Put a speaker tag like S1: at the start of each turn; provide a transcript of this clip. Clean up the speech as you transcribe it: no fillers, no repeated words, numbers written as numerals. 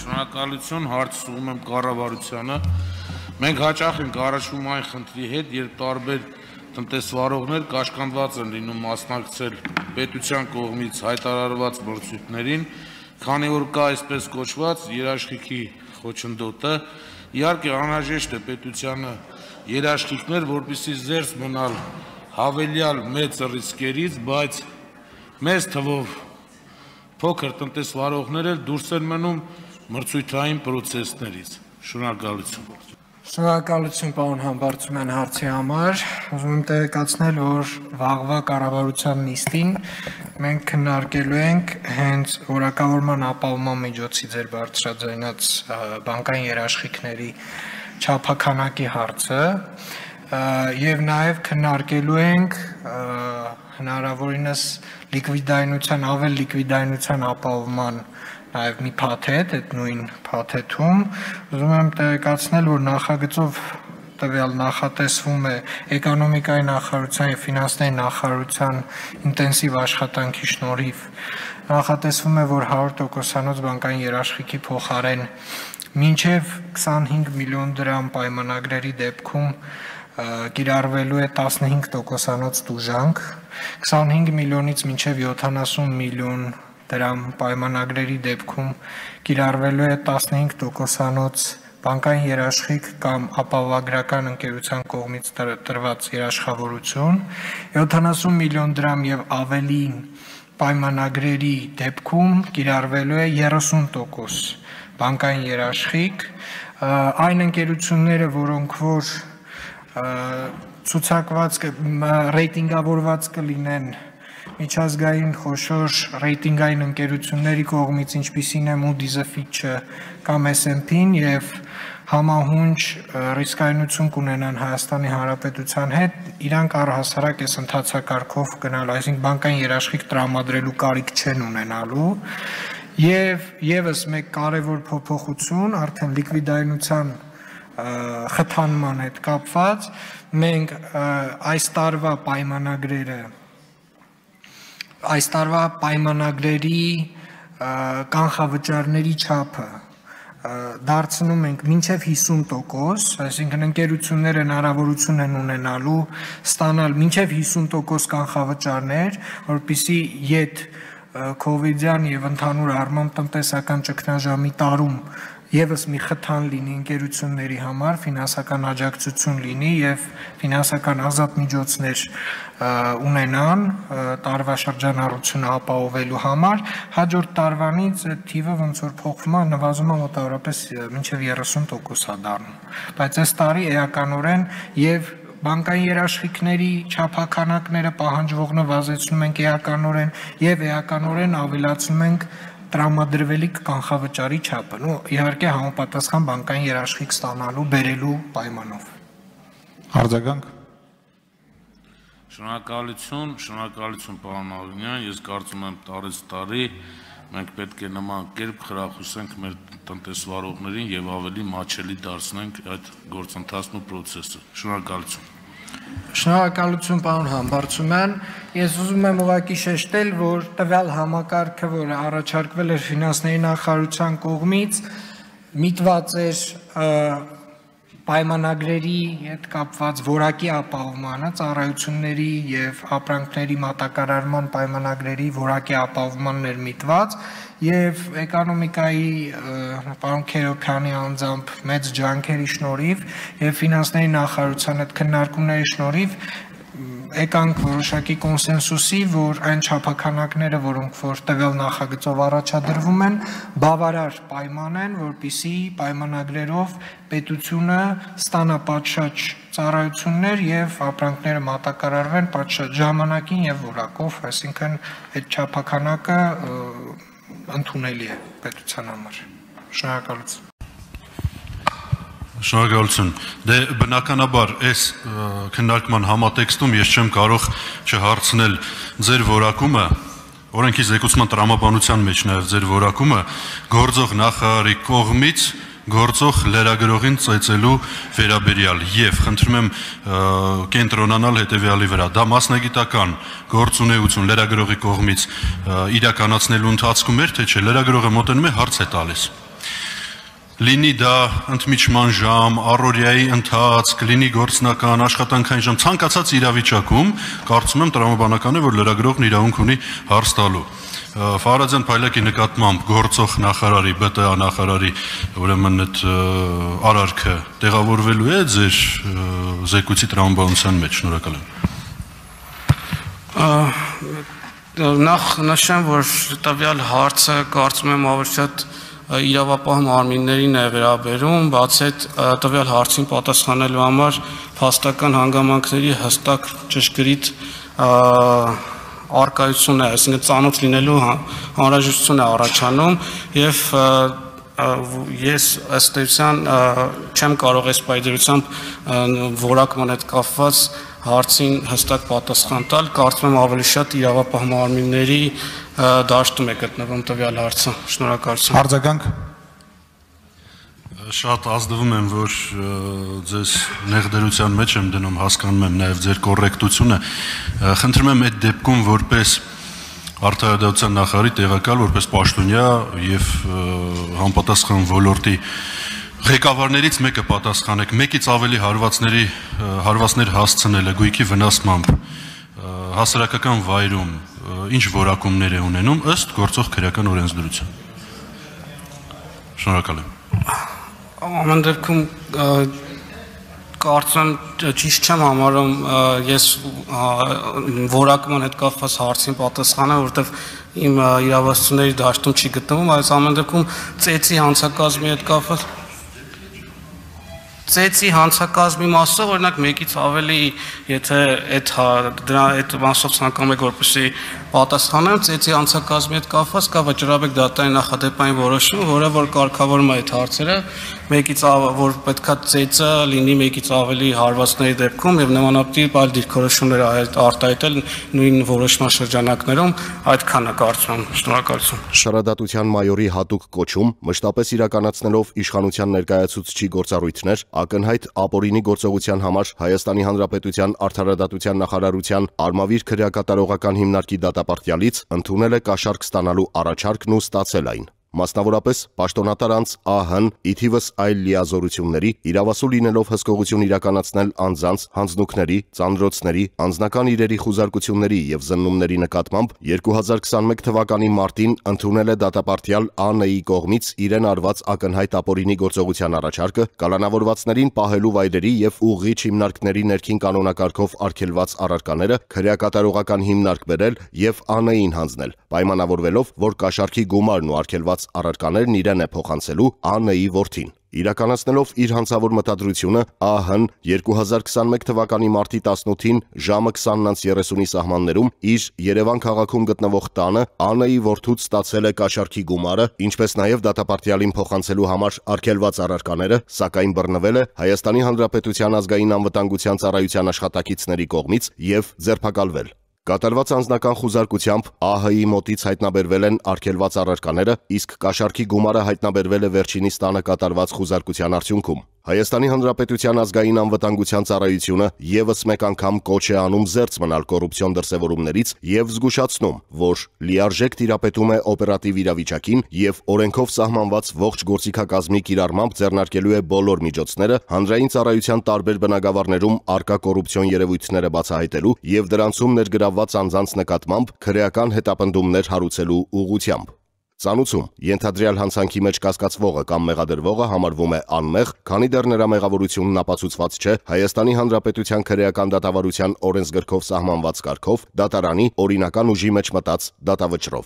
S1: Շնորհակալություն, հարցը ուղղում եմ կառավարությանը։ Մենք հաճախ ենք առաջվում այն խնդրի հետ, երբ տարբեր տնտեսվարողներ կաշկանդված են լինում մասնակցել պետության կողմից հայտարարված մրցույթներին, քանի որ կա այսպես կոչված երաշխիքի խոչընդոտը, իհարկե անհրաժեշտ է պետությանը երաշխիքներ, որպեսզի զերծ մնալ հավելյալ մեծ ռիսկերից, բայց մեծ թվով փոքր տնտեսվարողներ էլ դուրս են մնում մրցույթային պրոցեսներից։ Շնորհակալություն։
S2: Շնորհակալություն պարոն Համբարձումյան հարցի համար։ Ուզում եմ տեղեկացնել, որ վաղվա կառավարության նիստին մենք քննարկելու ենք հենց որակավորման ապահովման միջոցի ձեր բարձրաձայնած բանկային երաշխիքների չափաքանակի հարցը եւ նաեւ քննարկելու ենք հնարավորինս ավել լիկվիդայնության ապահովման նաև մի փաթեթ, այդ նույն փաթեթում ուզում եմ տեղեկացնել, որ նախագծով տվյալ նախատեսվում է էկոնոմիկայի նախարարության եւ ֆինանսների նախարարության ինտենսիվ աշխատանքի շնորհիվ նախատեսվում է, որ 100%-անոց բանկային երաշխիքի փոխարեն մինչև 25 միլիոն դրամ պայմանագրերի դեպքում կիրառվելու է 15%-անոց տուժանք, 25 միլիոնից մինչև 70 միլիոն դրամ պայմանագրերի դեպքում կիրառվելու է 15%-անոց բանկային երաշխիք կամ ապահովագրական ընկերության կողմից տրված երաշխավորություն, 70 միլիոն դրամ եւ ավելի պայմանագրերի դեպքում կիրառվելու է 30% բանկային երաշխիք, այն ընկերությունները, որոնք որ ցուցակված ռեյտինգավորված կլինեն միջազգային խոշոր ռեյտինգային ընկերությունների կողմից, ինչպիսին է Moody's-ը, Fitch-ը կամ S&P-ն եւ համահունչ ռիսկայնություն կունենան Հայաստանի Հանրապետության հետ, իրանք առհասարակ այս ընթացակարգով գնալ, այսինքն բանկային երաշխիք տրամադրելու կարիք չեն ունենալու եւ եւս մեկ կարեւոր փոփոխություն արդեն լիկվիդայնության խթանման հետ կապված մենք այս տարվա պայմանագրերի կանխավճարների չափը դարձնում ենք մինչև 50%, այսինքն ընկերությունները հնարավորություն են ունենալու ստանալ մինչև 50% կանխավճարներ, որպեսզի յետ քովիդյան եւ ընդհանուր առմամբ տնտեսական ճգնաժամի տարում եւս մի խթան լինի ընկերությունների համար, ֆինանսական աջակցություն լինի եւ ֆինանսական ազատ միջոցներ ունենան տարվա շրջանառությունը ապահովելու համար, հաջորդ տարվանից այդ թիվը ոնց որ փոխվում է, նվազում է մոտավորապես մինչև 30% դառնում, բայց այս տարի էականորեն եւ բանկային երաշխիքների չափաքանակները պահանջվող նվազեցնում ենք էականորեն եւ էականորեն ավելացնում ենք տրամադրվելիք կանխավճարի չափը, իհարկե համապատասխան բանկային երաշխիք ստանալու, բերելու պայմանով։
S3: Արձագանք։
S1: Շնորհակալություն պարոն Ալինյան, ես կարծում եմ տարեց տարի մենք պետք է նման կերպ խրախուսենք մեր տնտեսվարողներին եւ ավելի մատչելի դարձնենք այդ գործընթացն ու process-ը։ Շնորհակալություն։
S2: Շնորհակալություն պարոն Համբարձումյան, ես ուզում եմ ուղղակի շեշտել, որ տվյալ համակարգը, որը առաջարկվել էր ֆինանսների նախարարության կողմից, միտված էր պայմանագրերի հետ կապված որակի ապահովմանը, ծառայությունների եւ ապրանքների մատակարարման պայմանագրերի որակի ապահովմանն էր միտված եւ էկոնոմիկայի պարոն Քերոբյանի անձամբ մեծ ջանքերի շնորհիվ եւ ֆինանսների նախարարության հետ քննարկումների շնորհիվ եկանք որոշակի կոնսենսուսի, որ այն չափաքանակները, որոնք որ տվյալ նախագծով առաջադրվում են, բավարար պայման են, որպեսզի պայմանագրերով պետությունը ստանա պատշաճ ծառայություններ եւ ապրանքները մատակարարվեն պատշաճ ժամանակին եւ որակով, այսինքն այդ չափաքանակը ընդունելի է պետության համար։ Շնորհակալություն։
S4: Շնորհակալություն։ Դե բնականաբար այս քննարկման համատեքստում ես չեմ կարող չհարցնել ձեր որակումը, օրենքի զեկուցման տրամաբանության մեջ նաև ձեր որակումը գործող նախարարի կողմից գործող լրագրողին ծեծելու վերաբերյալ եւ խնդրում եմ կենտրոնանալ հետեւյալի վրա դա մասնագիտական գործունեություն լրագրողի կողմից իրականացնելու ընթացքում էր թե չէ լրագրողը մոտենում է հարց է տալիս լինի դա ընդմիջման ժամ, առօրյայի ընթացք, լինի գործնական, աշխատանքային ժամ, ցանկացած իրավիճակում կարծում եմ տրամաբանական է, որ լրագրողն իրավունք ունի հարց տալու։ Ֆարաձյան Փայլակի նկատմամբ գործող նախարարի, ԲՏԱ նախարարի ուրեմն այդ արարքը տեղավորվելու է ձեր զեկույցի տրամաբանության մեջ, շնորհակալ եմ։
S5: Նախ նշեմ, որ տվյալ հարցը կարծում եմ ավելի շատ իրավապահ մարմիններին է վերաբերում, բացի այդ տվյալ հարցին պատասխանելու համար փաստական հանգամանքների հստակ ճշգրիտ արկայություն է, այսինքն ծանոթ լինելու անհրաժեշտություն է առաջանում եւ ես ըստ էության չեմ կարող այս պայծառությամբ որակման հետ կապված հարցին հստակ պատասխան տալ, կարծում եմ ավելի շատ իրավապահ մարմինների դաշտում է գտնվում տվյալ հարցը։ Շնորհակալություն։
S3: Արձագանք։
S4: Շատ ազդվում եմ, որ ձեզ նեղդերության մեջ եմ դնում, հասկանում եմ նաև ձեր կոռեկտությունը։ Խնդրում եմ այդ դեպքում որպես արդարադատության նախարարի տեղակալ, որպես պաշտոնյա եւ համապատասխան ոլորտի ղեկավարներից մեկը պատասխանեք, մեկից ավելի հարվածներ հասցնելը գույքի վնասմամբ հասարակական վայրում ինչ որակումներ է ունենում ըստ գործող քրեական օրենսդրության։ Շնորհակալ եմ։
S5: Ամեն դեպքում կարծում ճիշտ չեմ համարում ես որակման հետ կապված հարցին պատասխանը, որովհետև իմ իրավասությունների դաշտում չի գտնվում, այս ամեն դեպքում ծեծի հանցակազմի հետ կապված ծեծի հանցակազմի մասով օրինակ մեկից ավելի եթե այդ մասով ցանկանում եք որպեսզի պատասխանեմ ծեծի հանցակազմի հետ կապված կա վճռաբեկ դատարանի նախադեպային որոշում, որը որ կարգավորում է այդ հարցերը, մեկից որ պետքա ծեծը լինի մեկից ավելի հարվածների դեպքում եւ նմանատիպ այլ դիրքորոշումներ արտահայտել նույն որոշման շրջանակներում, այդքանը կարծում եմ։ Շնորհակալություն։
S6: Շարադատության մայորի հատուկ կոչում մշտապես իրականացնելով իշխանության ներկայացուցչի գործառույթներ ակնհայտ ապօրինի գործողության համար Հայաստանի Հանրապետության Արդարադատության նախարարության Արմավիր քրեակատարողական հիմնարկի դատապարտյալից ընդունել է կաշառք ստանալու առաջարկն ու ստացել այն։ Մասնավորապես պաշտոնատար անձ ԱՀ-ն ի թիվս այլ լիազորությունների իրավասու լինելով հսկողություն իրականացնել անձանց, հանձնուկների, ծանրոցների, անձնական իրերի խուզարկությունների եւ զննումների նկատմամբ 2021 թվականի մարտին ընդունել է դատապարտյալ ԱՆ-ի կողմից իրեն արված ակնհայտ ապօրինի գործողության առաջարկը կալանավորվածներին պահելու վայրերի եւ ուղղիչ հիմնարկների ներքին կանոնակարգով արգելված առարկաները քրեակատարողական հիմնարկ բերել եւ ԱՆ-ին հանձնել, պայմանավորվելով, որ կաշառքի գումարն ու արգելված առարկաներն իրեն է փոխանցելու ԱՆ-ի որդին։ Իրականացնելով իր հանցավոր մտադրությունը ԱՀ-ն 2021 թվականի մարտի 18-ին ժամը 20:30-ի սահմաններում իր Երևան քաղաքում գտնվող տանը ԱՆ-ի որդուց ստացել է կաշառքի գումարը, ինչպես նաև դատապարտյալին փոխանցելու համար արգելված առարկաները, սակայն բռնվել է Հայաստանի Հանրապետության ազգային անվտանգության ծառայության աշխատակիցների կողմից եւ ձերբակալվել։ Կատարված անձնական խուզարկությամբ ԱՀ-ի մոտից հայտնաբերվել են արգելված առարկաները, իսկ կաշառքի գումարը հայտնաբերվել է վերջինիս տանը կատարված խուզարկության արդյունքում։ Հայաստանի Հանրապետության ազգային անվտանգության ծառայությունը եւս մեկ անգամ կոչ է անում զերծ մնալ կոռուպցիոն դրսևորումներից եւ զգուշացնում, որ լիարժեք տիրապետում է օպերատիվ իրավիճակին եւ օրենքով սահմանված ողջ գործիքակազմի կիրառմամբ ձեռնարկելու է բոլոր միջոցները հանրային ծառայության տարբեր բնագավառներում արկա կոռուպցիոն երևույթները բացահայտելու եւ դրանցում ներգրավված անձանց նկատմամբ քրեական հետապնդումներ հարուցելու ուղղությամբ։ Ծանուցում ենթադրյալ հանցանքի մեջ կասկածվողը կամ մեղադրվողը համարվում է անմեղ, քանի դեռ նրա մեղավորությունն ապացուցված չէ Հայաստանի Հանրապետության քրեական դատավարության օրենսգրքով սահմանված կարգով դատարանի օրինական ուժի մեջ մտած դատավճռով։